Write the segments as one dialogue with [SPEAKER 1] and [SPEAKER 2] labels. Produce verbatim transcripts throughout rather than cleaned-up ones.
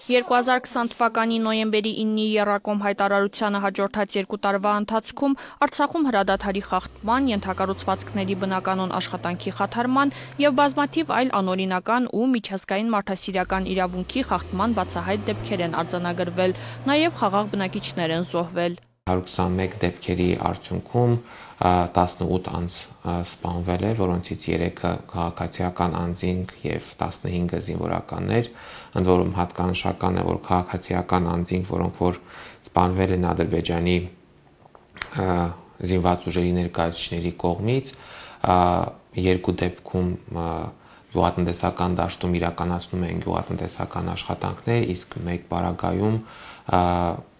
[SPEAKER 1] երկու հազար քսան թվականի նոյեմբերի իննի եռակոմ հայտարարությանը հաջորդած երկու տարվա ընթացքում Արցախում հրադադարի խախտման, ենթակառուցվածքների բնականոն աշխատանքի խաթարման եւ բազմաթիվ այլ անօրինական ու միջազգային մարդասիրական իրավունքի խախտման բացահայտ դեպքեր են արձանագրվել, նաեւ խաղաղ բնակիչներ են զոհվել։
[SPEAKER 2] հարյուր քսանմեկ դեպքերի արդյունքում տասնութ անձ սպանվել է, որոնցից երեքը քաղաքացիական անձինք եւ տասնհինգը զինվորականներ, ընդ որում հատկանշական է, որ քաղաքացիական անձինք, որոնք որ սպանվել են Ադրբեջանի զինված ուժերի ներկայացուցիչների կողմից, երկու դեպքում գյուղատնտեսական դաշտում իրականացնում են գյուղատնտեսական աշխատանքներ, իսկ մեկ պարագայում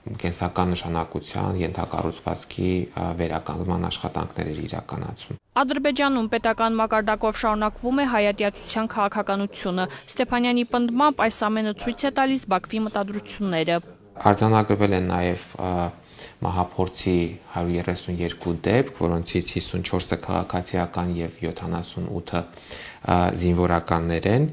[SPEAKER 2] կենսական նշանակության ենթակառուցվածքի վերականգնման աշխատանքներ էր իրականացում։
[SPEAKER 1] Ադրբեջանում պետական մակարդակով շարունակվում է հայատյացության քաղաքականությունը։ Ստեփանյանի պնդմամբ այս ամենը ցույց է տալիս Բաքվի մտադրությունները։
[SPEAKER 2] Արձանագրվել են նաև մահափորձի հարյուր երեսունյոթ դեպք, որոնցից հիսունչորսը քաղաքացիական եւ յոթանասունութը զինվորականներ են։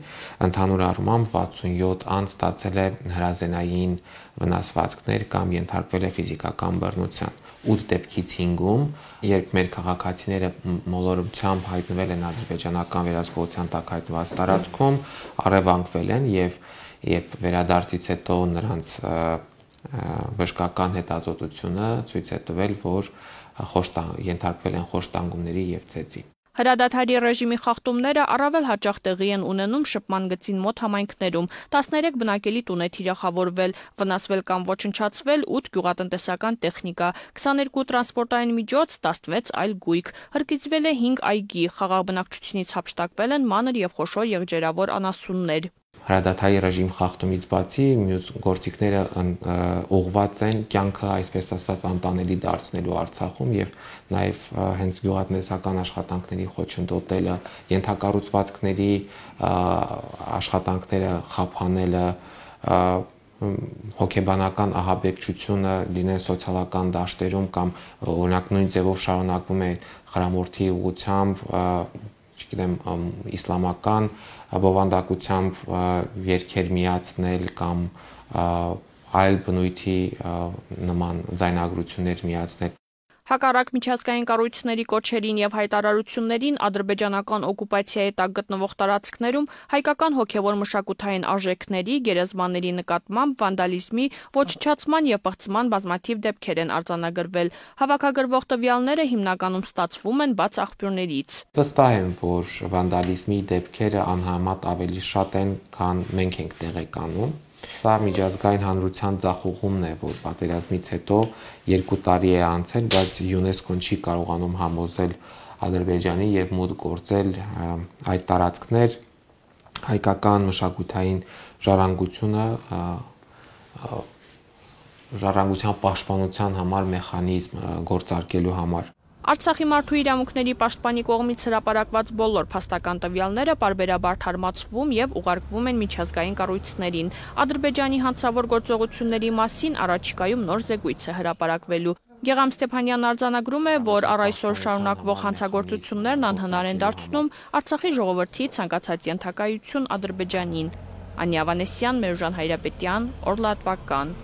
[SPEAKER 2] Ընդհանուր առմամբ վաթսունյոթ անձ ստացել է հրազենային վնասվածքներ կամ ենթարկվել է ֆիզիկական բռնության։ ութ դեպքից հինգում, երբ մեր քաղաքացիները մոլորությամբ հայտնվել են ադրբեջանական վերահսկողության տակ հայտնված տարածքում, առևանգվել են եւ եւ վերադարձից հետո նրանց բժշկական հետազոտությունը ցույց է տվել, որ ենթարկվել են խոշտանգումների եւ ծեծի։
[SPEAKER 1] Հրադադարի ռեժիմի խախտումները առավել հաճախ տեղի են ունենում շփման գծին մոտ համայնքներում։ տասներեք բնակելի տուն է թիրախավորվել, վնասվել կամ ոչնչացվել ութ գյուղատնտեսական տեխնիկա, քսաներկու տրանսպորտային միջոց, տասնվեց այլ գույք, հրկիզվել է հինգ այգի, խաղաղ բնակչությունից հափշտակվել են մանր եւ խոշոր եղջերավոր անասուններ։
[SPEAKER 2] Հրադադարի ռեժիմ խախտումից բացի մյուս գործիքները ուղղված են կյանքը, այսպես ասած, անտանելի դարձնելու Արցախում եւ նաեւ հենց գյուղատնտեսական աշխատանքների խոչընդոտելը, ենթակառուցվածքների աշխատանքները խափանելը, հոգեբանական ահաբեկչությունը լինեն սոցիալական դաշտերում կամ օրինակ նույն ձևով շարունակվում է խրամորդի ուղղությամբ, չգիտեմ, իսլամական բովանդակությամբ երգեր միացնել կամ այլ բնույթի նման ձայնագրություններ միացնել։
[SPEAKER 1] Հակառակ միջազգային կառույցների կոչերին եւ հայտարարություններին ադրբեջանական օկուպացիայի տակ գտնվող տարածքներում հայկական հոգեվոր մշակութային արժեքների, գերեզմանների նկատմամբ վանդալիզմի, ոչնչացման եւ պղծման բազմաթիվ դեպքեր են արձանագրվել։ Հավաքագրվող տվյալները հիմնականում ստացվում են բաց աղբյուրներից։
[SPEAKER 2] Վստահ եմ, որ վանդալիզմի դեպքերը անհամեմատ ավելի շատ են, քան մենք ենք տեղեկանում։ Սա միջազգային հանրության ձախողումն է, որ պատերազմից հետո երկու տարի է անցել, բայց ՅՈՒՆԵՍԿՕ-ն չի կարողանում համոզել Ադրբեջանի եւ մուտք գործել այդ տարածքներ, հայկական մշակութային ժառանգությունը ժառանգության պաշտպանության համար մեխանիզմ գործարկելու համար։
[SPEAKER 1] Արցախի մարդու իրավունքների պաշտպանի կողմից հրապարակված բոլոր փաստական տվյալները պարբերաբար թարմացվում եւ ուղարկվում են միջազգային կառույցներին։ Ադրբեջանի հանցավոր գործողությունների մասին առաջիկայում նոր զեկույց է հրապարակվելու։ Գեգամ Ստեփանյանն արձանագրում է, որ առ այսօր շարունակվող հանցագործություններն անհնար են դարձնում Արցախի ժողովրդի ցանկացած ենթակայություն Ադրբեջանին։ Անյա Ավանեսյան, Մերժան Հայրապետյան, Օրլատվական։